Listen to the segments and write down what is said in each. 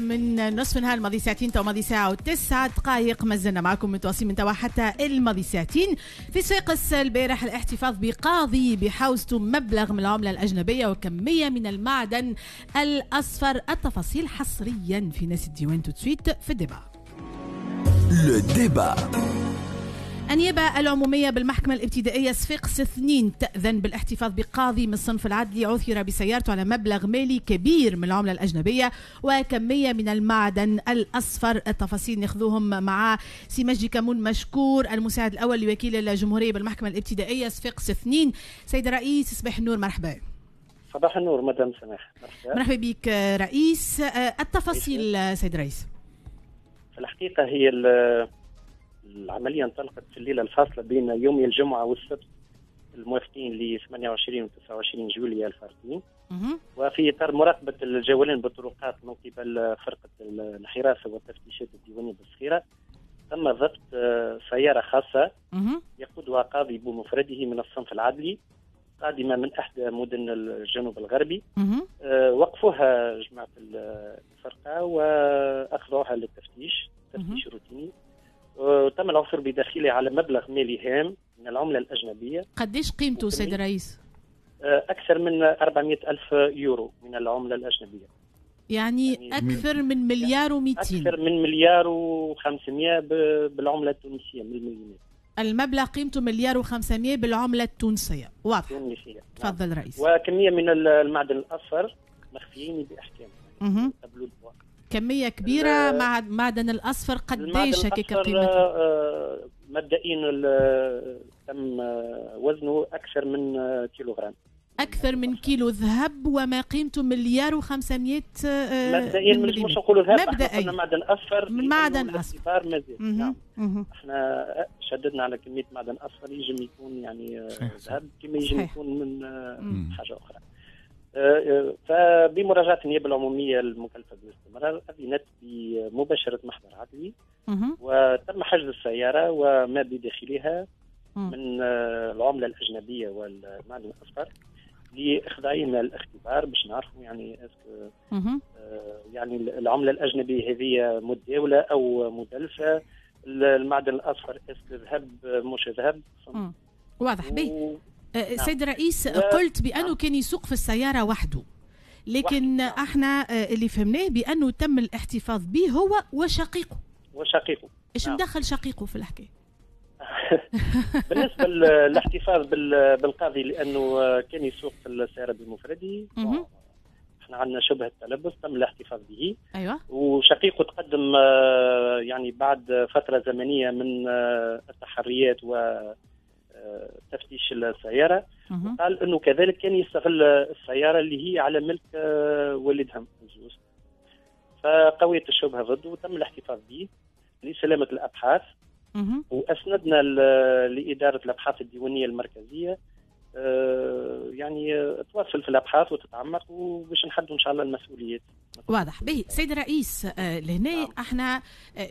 من نصف نهار الماضي ساعتين، تو ماضي ساعة و9 دقائق. ما زلنا معكم متواصلين من توا حتى الماضي ساعتين. في صفاقس البارح الاحتفاظ بقاضي بحوزته مبلغ من العملة الأجنبية وكمية من المعدن الأصفر. التفاصيل حصريا في ناس الديوان tout de suite في ال débat. le débat. النيابة العمومية بالمحكمة الابتدائية صفاقس 2 تأذن بالاحتفاظ بقاضي من الصنف العدلي عثر بسيارته على مبلغ مالي كبير من العملة الأجنبية وكمية من المعدن الأصفر. التفاصيل ناخذوهم مع سي مجدي كمون مشكور، المساعد الأول لوكيل الجمهورية بالمحكمة الابتدائية صفاقس 2. سيد الرئيس، صباح النور، مرحبا. صباح النور مدام سماح. مرحبا، مرحبا بك رئيس. التفاصيل سيد الرئيس. في الحقيقة هي العملية انطلقت في الليلة الفاصلة بين يوم الجمعة والسبت الموافقين ل 28 و 29 جويلية الفارطين، وفي إطار مراقبة الجولان بالطرقات من قبل فرقة الحراسة والتفتيشات الديوانية بالصخيرة، تم ضبط سيارة خاصة يقودها قاضي بمفرده من الصنف العدلي قادمة من أحدى مدن الجنوب الغربي. وقفوها جماعة الفرقة وأخذوها للتفتيش، تفتيش روتيني، وتم العثور بداخلها على مبلغ مالي هام من العملة الأجنبية. قديش قيمته سيد الرئيس؟ أكثر من 400 ألف يورو من العملة الأجنبية. يعني أكثر من مليار و200. أكثر من مليار و500 بالعملة التونسية من المليونات. المبلغ قيمته مليار و500 بالعملة التونسية، واضح. التونسية. تفضل رئيس. وكمية من المعدن الأصفر مخفيين بإحكام. كمية كبيرة مع معدن الأصفر، قديش هكاك قيمته؟ مبدئيا تم وزنه أكثر من كيلوغرام. اكثر من كيلو ذهب وما قيمته مليار و500. مبدئيا مش نقولوا ذهب. مبدئيا معدن اصفر. من معدن اصفر. مازال نعم. احنا شددنا على كمية معدن اصفر، يجم يكون يعني ذهب كما يجم يكون من حاجة اخرى. فبمراجعه النيابة العمومية المكلفه بالاستمرار اذنت بمباشره محضر عدلي، وتم حجز السيارة وما بداخلها من العملة الاجنبية والمعدن الاصفر لاخضاعهما الاختبار باش نعرفوا يعني est-ce que يعني العملة الاجنبية هذه متداوله او مدلسه، المعدن الاصفر est-ce que ذهب مش ذهب. واضح به. نعم. سيد الرئيس، قلت بانه كان يسوق في السيارة وحده، لكن وحده. احنا اللي فهمناه بانه تم الاحتفاظ به هو وشقيقه. وشقيقه. ايش مدخل شقيقه في الحكاية؟ بالنسبة للاحتفاظ بالقاضي لانه كان يسوق في السيارة بمفرده، احنا عندنا شبهه تلبس، تم الاحتفاظ به. وشقيقه تقدم يعني بعد فترة زمنية من التحريات و تفتيش السياره، قال انه كذلك كان يستغل السيارة اللي هي على ملك والدهم الزوز، فقويت الشبهة ضده وتم الاحتفاظ به لسلامة الابحاث، واسندنا لادارة الابحاث الديوانيه المركزية يعني تواصل في الابحاث وتتعمق وباش نحدوا ان شاء الله المسؤوليات. واضح به سيد الرئيس. لهنا احنا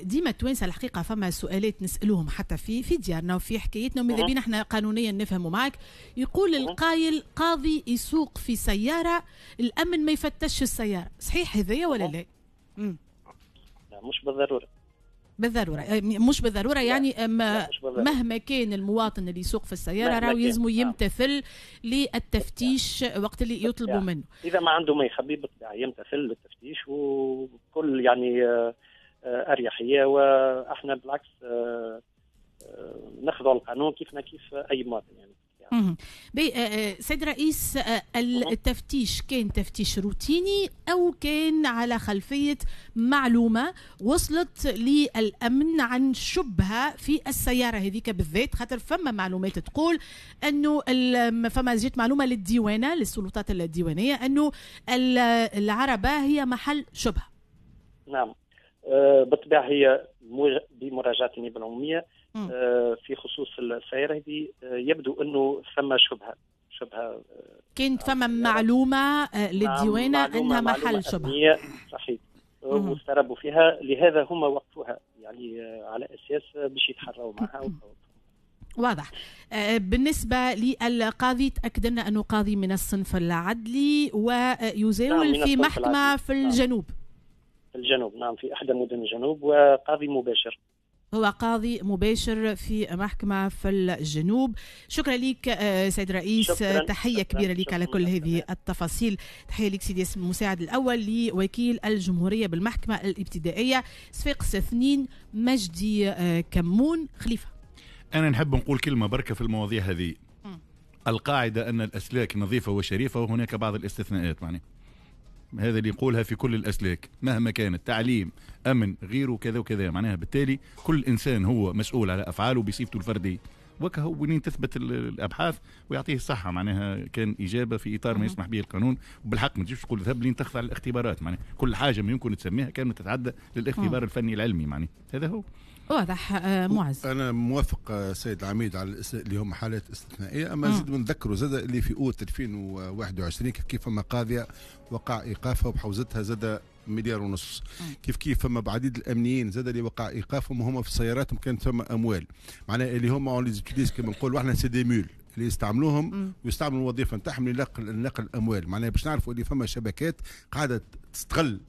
ديما التوانسة الحقيقة فما سؤالات نسالوهم حتى في ديارنا وفي حكايتنا، وماذا بينا احنا قانونيا نفهموا معك. يقول القايل قاضي يسوق في سياره، الامن ما يفتش السياره، صحيح هذايا ولا لا؟ لا، مش بالضروره. بالضرورة مش بالضرورة يعني ما مهما كان المواطن اللي يسوق في السيارة راهو يلزم يمتثل للتفتيش وقت اللي يطلبوا منه. اذا ما عنده ما يخبي بالطبيعة يمتثل للتفتيش وكل يعني اريحيه، واحنا بالعكس نخضع القانون كيفنا كيف اي مواطن يعني. سيد رئيس، التفتيش كان تفتيش روتيني أو كان على خلفية معلومة وصلت للأمن عن شبهة في السيارة هذيك بالذات؟ خاطر فما معلومات تقول أنه فما جات معلومة للديوانة، للسلطات الديوانية، أنه العربة هي محل شبهة. نعم، بالطبيعة هي بمراجعة النيابة العمومية في خصوص السيارة هذه يبدو أنه ثم شبهة. كانت فما معلومة للديوانة، نعم، أنها محل شبهة. صحيح، واسترابوا فيها، لهذا هم وقفوها يعني على أساس باش يتحروا معها. واضح. بالنسبة للقاضي، تأكد لنا أنه قاضي من الصنف العدلي ويزاول، نعم، في محكمة في الجنوب. في الجنوب، نعم، في احدى مدن الجنوب، وقاضي مباشر. هو قاضي مباشر في محكمة في الجنوب. شكرا لك سيد رئيس. شكرا. تحية كبيرة لك على كل هذه التفاصيل. تحية لك سيدي المساعد الأول لوكيل الجمهورية بالمحكمة الابتدائية صفاقس 2 مجدي كمون خليفة. أنا نحب نقول كلمة بركة في المواضيع هذه. القاعدة أن الأسلاك نظيفة وشريفة، وهناك بعض الاستثناءات، معناها هذا اللي يقولها في كل الأسلاك مهما كانت، تعليم، أمن، غيره، كذا وكذا، معناها بالتالي كل إنسان هو مسؤول على أفعاله بصفته الفردية، وكهو وين تثبت الأبحاث ويعطيه الصحة، معناها كان إجابة في إطار ما يسمح به القانون. وبالحق ما تجيش تقول ذهب لين تخضع للاختبارات، معناها كل حاجة ما يمكن تسميها كانت تتعدى للاختبار الفني العلمي، معناها هذا هو. واضح. معز. انا موافق سيد العميد على اللي هم حالات استثنائيه، اما زيد نذكروا زاد اللي في اوت 2021 كيف كيف فما قاضيه وقع ايقافها وبحوزتها زاد 1.5 مليار. كيف كيف فما بعديد الامنيين زاد اللي وقع ايقافهم وهم في سياراتهم كانت فما اموال، معناها اللي هما on les utilise كما نقولوا احنا، c'est des mules اللي يستعملوهم ويستعملوا الوظيفة نتاعهم لنقل الاموال، معناها باش نعرفوا اللي فما شبكات قاعدة تستغل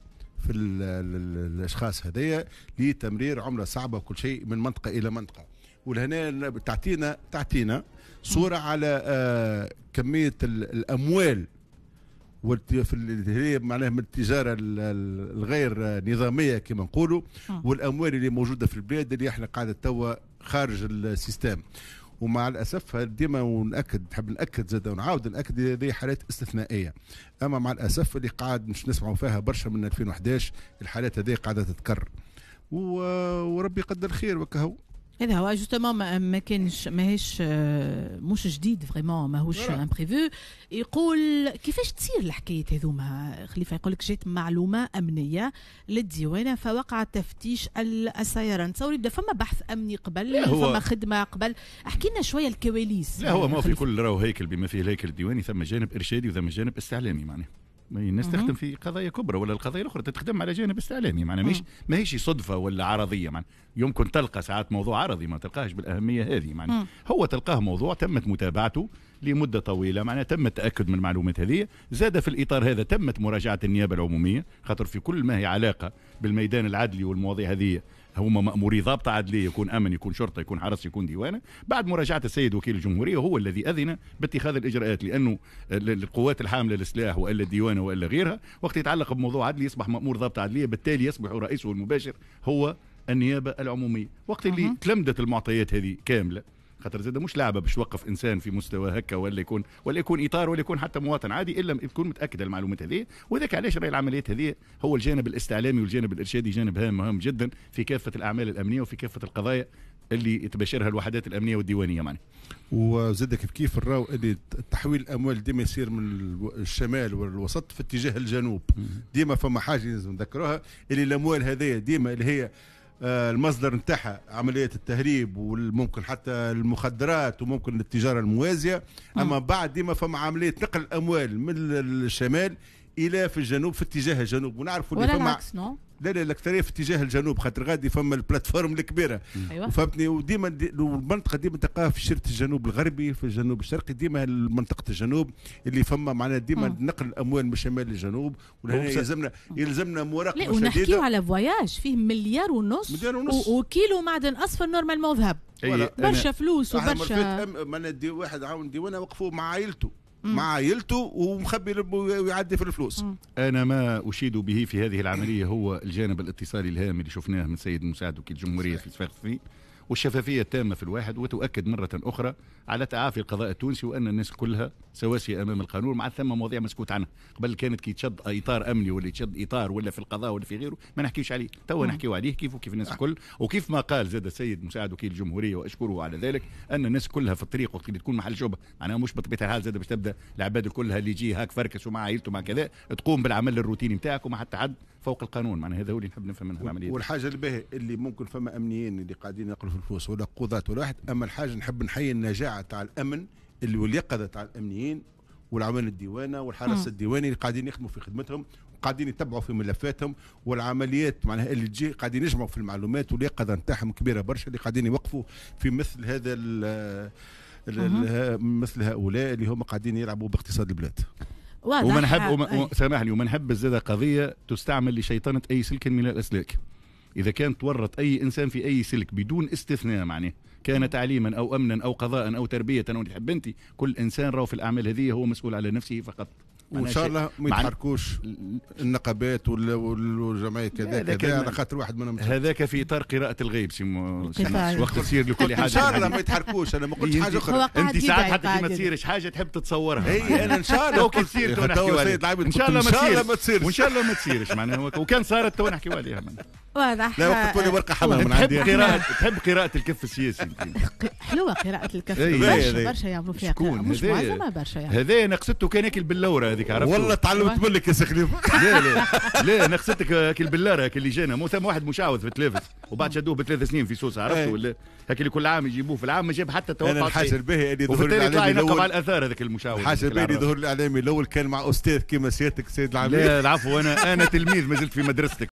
في الاشخاص هذيا لتمرير عمله صعبة وكل شيء من منطقة الى منطقه. ولهنا تعطينا صوره على كمية الاموال في هي معناها من التجارة الغير نظامية كما نقولوا، والاموال اللي موجودة في البلاد اللي احنا قاعدة توا خارج ال système. ومع الاسف ديما وناكد، نحب ناكد زاد ونعاود ناكد، هذه حالات استثنائيه، اما مع الاسف اللي قاعد مش نسمعوا فيها برشا من 2011 الحالات هذه قاعدة تتكرر، وربي يقدر الخير وكهو. هذا هو justement، ما كانش ماهيش مش جديد vraiment، ماهوش imprévu. يقول كيفاش تصير الحكاية هذوما خليفه؟ يقول لك جات معلومة امنية للديوانه فوقع تفتيش السياره، نتصور يبدا فما بحث امني قبل، فما خدمة قبل. احكي لنا شوية الكواليس. لا هو ما في كل راهو هيكل بما فيه الهيكل الديواني ثم جانب ارشادي وثم جانب استعلامي، معناه الناس تخدم في قضايا كبرى ولا القضايا الاخرى تخدم على جانب استعلامي، معناها مش ماهيش صدفة ولا عرضيه، معناها يمكن تلقى ساعات موضوع عرضي ما تلقاهش بالاهميه هذه، معناها هو تلقاه موضوع تمت متابعته لمدة طويلة، معناها تم التاكد من المعلومات هذه. زاد في الاطار هذا تمت مراجعه النيابة العمومية، خاطر في كل ما هي علاقة بالميدان العدلي والمواضيع هذه هما مأموري ضابطة عدلية، يكون أمن، يكون شرطة، يكون حرس، يكون ديوانة. بعد مراجعة السيد وكيل الجمهورية هو الذي أذن باتخاذ الإجراءات، لأنه القوات الحاملة للسلاح وإلا الديوانة وإلا غيرها وقت يتعلق بموضوع عدلي يصبح مأمور ضابطة عدلية، بالتالي يصبح رئيسه المباشر هو النيابة العمومية. وقت اللي تلمدت المعطيات هذه كاملة، خاطر زاد مش لعبه باش توقف انسان في مستوى هكا ولا يكون اطار ولا يكون حتى مواطن عادي الا تكون متاكد المعلومات هذه. وذاك علاش راي العمليات هذه هو الجانب الاستعلامي والجانب الارشادي جانب هام مهم جدا في كافة الاعمال الامنية وفي كافة القضايا اللي تباشرها الوحدات الامنية والديوانيه معنا. وزاد كيف كيف الراو اللي تحويل الاموال ديما يصير من الشمال والوسط في اتجاه الجنوب. ديما فما حاجة لازم نذكروها، اللي الاموال هذه ديما اللي هي المصدر نتاعها عملية التهريب وممكن حتى المخدرات وممكن التجارة الموازيه، اما بعد ديما فما عملية نقل الاموال من الشمال الى في الجنوب، في اتجاه الجنوب، ونعرفوا اللي فما العكس، non؟ لا لا، الاكثرية في اتجاه الجنوب، خاطر غادي فما ال plateforme الكبيره. وفهمتني، وديما المنطقة ديما تلقاها في شرة الجنوب الغربي، في الجنوب الشرقي، ديما منطقة الجنوب اللي فما معناها ديما نقل الاموال من الشمال للجنوب. ولهنا يلزمنا مراقبة شديده. ونحكيو على voyage فيه 1.5 مليار، 1.5 مليار وكيلو معدن اصفر normalement ذهب، برشا فلوس وبرشا. معناها دي واحد عاون ديوانه وقفوا مع عائلته، مع عائلته ومخبي ويعدي في الفلوس. انا ما اشيد به في هذه العملية هو الجانب الاتصالي الهام اللي شفناه من سيد مساعد وكيل الجمهورية في صفاقس، والشفافية التامة في الواحد، وتؤكد مرة أخرى على تعافي القضاء التونسي وأن الناس كلها سواسية أمام القانون. مع ثم مواضيع مسكوت عنها قبل، كانت كي تشد إطار أمني ولا يتشد إطار ولا في القضاء ولا في غيره ما نحكيوش عليه، توا نحكيو عليه كيف وكيف الناس الكل. وكيف ما قال زاد السيد مساعد وكيل الجمهورية وأشكره على ذلك، أن الناس كلها في الطريق وقت اللي تكون محل شبهة، معناها مش بطبيعة الحال زاد باش تبدا العباد كلها اللي يجي هاك فركس ومع عائلته مع كذا تقوم بالعمل الروتيني نتاعك، وما حتى حد فوق القانون. معناها هذا هو اللي نحب نفهم منها العمليه. والحاجة الباهيه اللي ممكن فما امنيين اللي قاعدين ينقلوا في الفلوس ولا قضاة ولا واحد، اما الحاجة نحب نحيي النجاعه تاع الامن اللي واليقظه تاع الامنيين والعوان الديوانه والحرس الديواني اللي قاعدين يخدموا في خدمتهم وقاعدين يتبعوا في ملفاتهم والعمليات معناها اللي تجي قاعدين يجمعوا في المعلومات، واليقظه نتاعهم كبيرة برشا اللي قاعدين يوقفوا في مثل هذا مثل هؤلاء اللي هم قاعدين يلعبوا باقتصاد البلاد. واضح. وما نحب سامحني، وما نحب زاد قضية تستعمل لشيطنه اي سلك من الاسلاك. اذا كان تورط اي انسان في اي سلك بدون استثناء، معناه كان تعليما او امنا او قضاء او تربيه او تحب انت، كل انسان راهو في الاعمال هذه هو مسؤول على نفسه فقط. وان شاء الله ما يتحركوش النقابات والجمعية كذا كذا على خاطر واحد منهم. هذاك في اطار قراءة الغيب سي وقت تصير لكل حاجة. ان شاء الله ما يتحركوش، انا ما قلتش حاجة اخرى. انت ساعات حتى كي ما تصيرش حاجة تحب تتصورها. اي انا ان شاء الله كي تصير تو نحكيو عليها. ان شاء الله ما تصيرش، وان شاء الله ما تصيرش معناها، وكان صارت تو نحكيو عليها. واضح. لا وقت تولي ورقة حمراء من عندي. تحب قراءة الكف السياسي. حلوة قراءة الكف، برشا برشا يعملوا فيها، مش معظمها برشا يعني. هذا نقصته كان ياكل باللوره هذيك، عرفت؟ والله تعلمت منك يا سي خليفة. لا لا لا، نقصتك اكل باللاره، هاك اللي جانا مو ثم واحد مشعوذ في تلافز وبعد شدوه ب3 سنين في سوسة، عرفت ولا؟ هاك اللي كل عام يجيبوه في العام ما جاب حتى توقع. انا الحاجة الباهيه اللي ظهور الاعلامي الاول على الاثار هذاك المشعوذ. الحاجة الباهيه اللي ظهور الاعلامي الاول كان مع استاذ كيما سيادتك سيد العميد. لا العفو، انا تلميذ ما زلت في مدرستك.